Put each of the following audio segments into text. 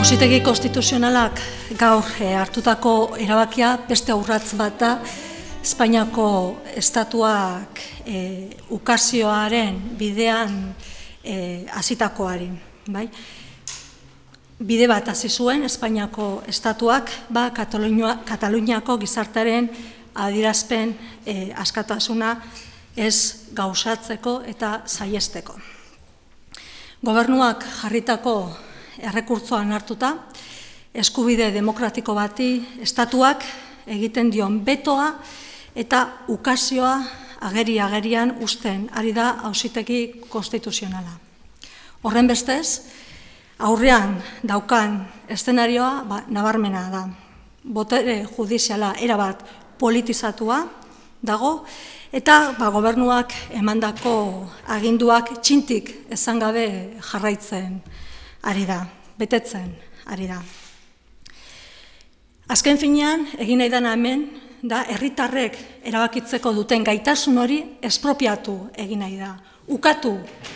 Auzitegi konstituzionalak gaur hartutako erabakia beste urrats bat da Espainiako estatuak ukazioaren bidean hasitakoari. Bide bat hasi zuen Espainiako estatuak Kataluniako gizartearen adierazpen askatasuna ez gauzatzeko eta saihesteko. Gobernuak jarritako errekurtsoan hartuta, eskubide demokratiko bati estatuak egiten dion betoa eta ukazioa agerian uzten ari da Auzitegi konstituzionala. Horren bestez, aurrean daukan eszenarioa nabarmena da. Botere judiziala erabat politizatua dago eta gobernuak emandako aginduak txintik esan gabe jarraitzen ari da, betetzen ari da. Azken finean, egin nahi dena hemen, da herritarrek erabakitzeko duten gaitasun hori espropiatu egin nahi da, ukatu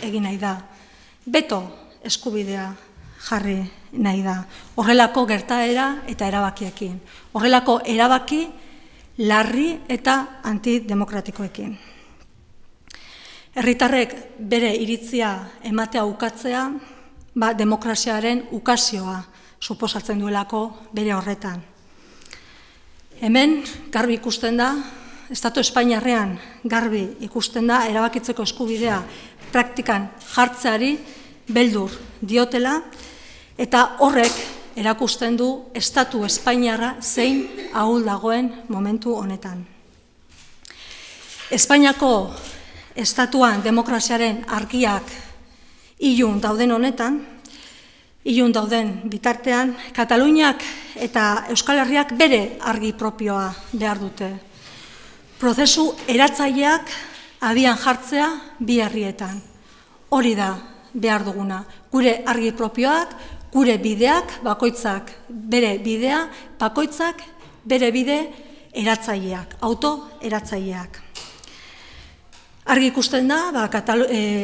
egin nahi da, beto eskubidea jarri nahi da, horrelako gertaera eta erabakiekin, horrelako erabaki larri eta antidemokratikoekin. Herritarrek bere iritzia ematea ukatzea, demokraziaren ukazioa suposatzen duelako bere horretan. Hemen garbi ikusten da, Estatu Espainiarrean garbi ikusten da, erabakitzeko eskubidea praktikan jartzeari beldur diotela, eta horrek erakusten du Estatu Espainiarra zein ahul dagoen momentu honetan. Espainiako estatuan demokraziaren argiak ilun dauden honetan, ilun dauden bitartean, Kataluniak eta Euskal Herriak bere argi propioa behar dute. Prozesu eratzaileak abian jartzea bi herrietan. Hori da behar duguna. Gure argi propioak, gure bideak, bakoitzak bere bidea, bakoitzak bere bide eratzaileak, auto-eratzaileak. Argi ikusten da,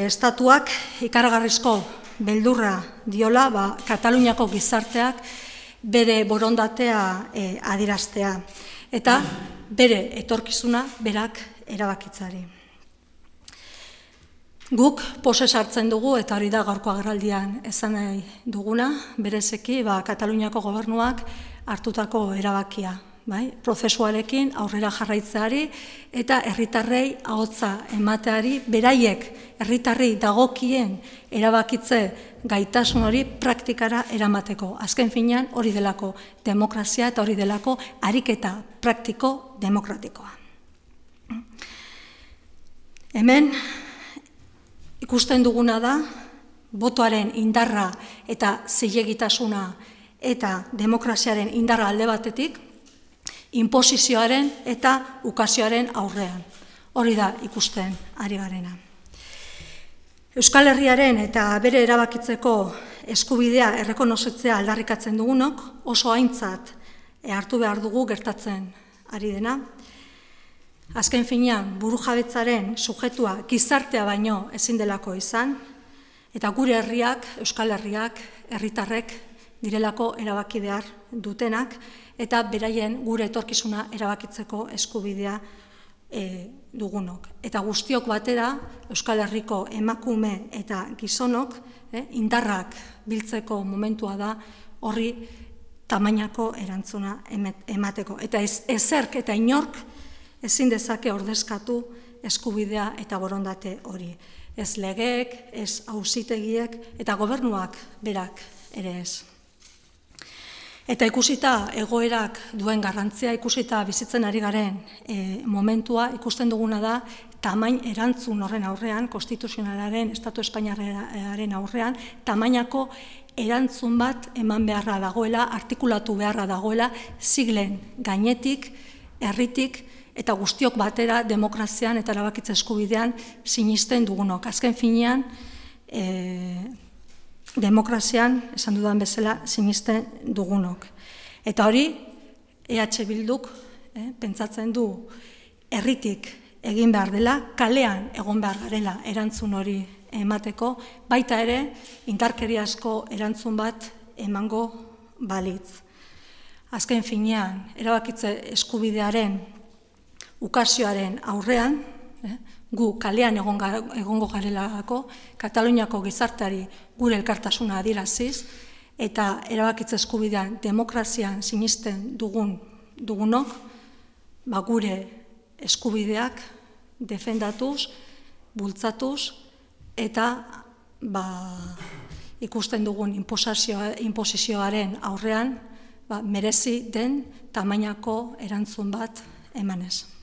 estatuak ikaragarrizko beldurra diola Kataluniako gizarteak bere borondatea adieraztea eta bere etorkizuna berak erabakitzari. Guk pozez hartzen dugu, eta hori da gaurko agerraldian esan nahi duguna, berezeki Kataluniako gobernuak hartutako erabakia. Prozesuarekin aurrera jarraitzeari eta herritarrei ahotsa emateari, beraiek herritarrei dagokien erabakitze gaitasun hori praktikara eramateko. Azken finean hori delako demokrazia eta hori delako ariketa praktiko demokratikoa. Hemen ikusten duguna da botoaren indarra eta zilegitasuna eta demokraziaren indarra alde batetik, inposizioaren eta ukazioaren aurrean. Hori da ikusten ari garena. Euskal Herriaren eta bere erabakitzeko eskubidea errekonozitzea aldarrikatzen dugunok oso aintzat hartu behar dugu gertatzen ari dena. Azken finean burujabetzaren sujetua gizartea baino ezin delako izan, eta gure herriak, Euskal Herriak, herritarrek direlako erabaki behar dutenak, eta beraien gure etorkizuna erabakitzeko eskubidea dugunok. Eta guztiok batera, Euskal Herriko emakume eta gizonok, indarrak biltzeko momentua da horri tamainako erantzuna emateko. Eta ezerk eta inork ezin dezake ordezkatu eskubidea eta borondate hori. Ez legeek, ez auzitegiek eta gobernuak berak ere ez. Eta ikusita egoerak duen garrantzia, ikusita bizitzen ari garen momentua, ikusten duguna da, tamain erantzun horren aurrean, konstituzionalaren, Estatu Espainiarraren aurrean, tamainako erantzun bat eman beharra dagoela, artikulatu beharra dagoela, siglen gainetik, herritik, eta guztiok batera demokrazian eta erabakitze eskubidean sinisten dugunok. Azken finean, demokrazian, esan dudan bezala, sinisten dugunok. Eta hori, EH Bilduk pentsatzen du herritik egin behar dela, kalean egon behar garela erantzun hori emateko, baita ere indarkeriazko erantzun bat emango balitz. Azken finean, erabakitze eskubidearen ukazioaren aurrean, gu kalean egongo garelako, Kataluniako gizarteari gure elkartasuna adieraziz, eta erabakitze eskubidean demokrazian sinisten dugunok, gure eskubideak defendatuz, bultzatuz, eta ikusten dugun inposizioaren aurrean merezi den tamainako erantzun bat emanez.